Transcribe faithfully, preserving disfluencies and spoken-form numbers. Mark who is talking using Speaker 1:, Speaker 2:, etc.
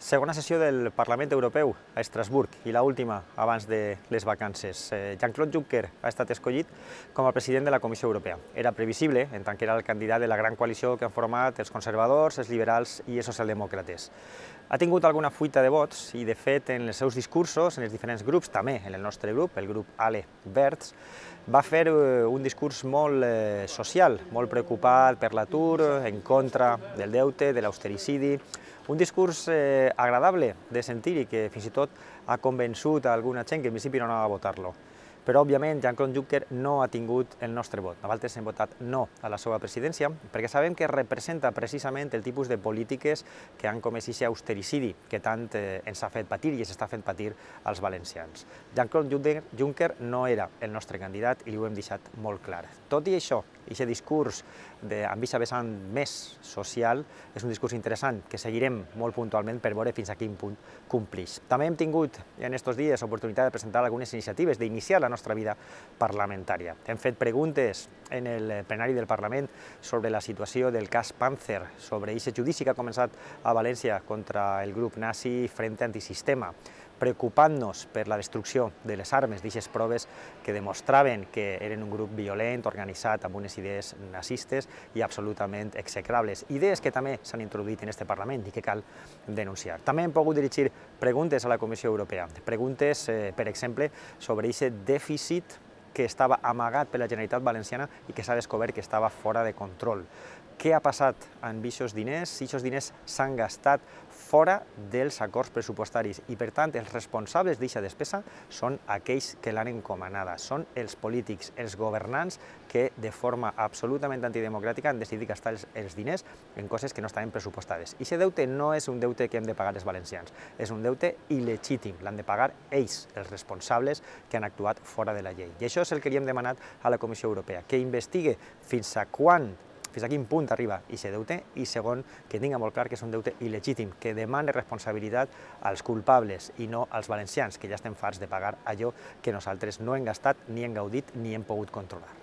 Speaker 1: Segona sessió del Parlament Europeu a Estrasburg i l'última abans de les vacances. Jean-Claude Juncker ha estat escollit com a president de la Comissió Europea. Era previsible, en tant que era el candidat de la gran coalició que han format els conservadors, els liberals i els socialdemòcrates. Ha tingut alguna fuita de vots i, de fet, en els seus discursos, en els diferents grups, també en el nostre grup, el grup ALE Verds, va fer un discurs molt social, molt preocupat per l'atur, en contra del deute, de l'austericidi, un discurs eh, agradable de sentir i que fins i tot ha convençut a alguna gent que en principi no anava a votar-lo. Però, òbviament, Jean-Claude Juncker no ha tingut el nostre vot. Nosaltres hem votat no a la seva presidència perquè sabem que representa precisament el tipus de polítiques que han comès aquest austericidi que tant eh, ens ha fet patir i ens està fent patir als valencians. Jean-Claude Juncker no era el nostre candidat i li ho hem deixat molt clar. Tot i això, aquest discurs amb aquesta vessant més social és un discurs interessant que seguirem molt puntualment per veure fins a quin punt complix. També hem tingut en aquests dies l'oportunitat de presentar algunes iniciatives, d'iniciar la nostra vida parlamentària. Hem fet preguntes en el plenari del Parlament sobre la situació del cas Panther, sobre aquest judici que ha començat a València contra el grup nazi Frente Antisistema, preocupant-nos per la destrucció de les armes d'aquestes proves que demostraven que eren un grup violent, organitzat amb unes idees nazistes i absolutament execrables. Idees que també s'han introduït en aquest Parlament i que cal denunciar. També hem pogut dirigir preguntes a la Comissió Europea, preguntes, eh, per exemple, sobre aquest dèficit que estava amagat per la Generalitat Valenciana i que s'ha descobert que estava fora de control. Què ha passat amb aquests diners? Si aquests diners s'han gastat fora dels acords pressupostaris i, per tant, els responsables d'aquesta despesa són aquells que l'han encomanada, són els polítics, els governants que de forma absolutament antidemocràtica han decidit gastar els, els diners en coses que no estaven pressupostades. I aquest deute no és un deute que hem de pagar els valencians, és un deute il·legítim, l'han de pagar ells, els responsables que han actuat fora de la llei. I això és el que li hem demanat a la Comissió Europea, que investigue fins a quan fins a quin punt arriba aquest deute i, segon, que tinga molt clar que és un deute il·legítim, que demana responsabilitat als culpables i no als valencians, que ja estem farts de pagar allò que nosaltres no hem gastat, ni hem gaudit, ni hem pogut controlar.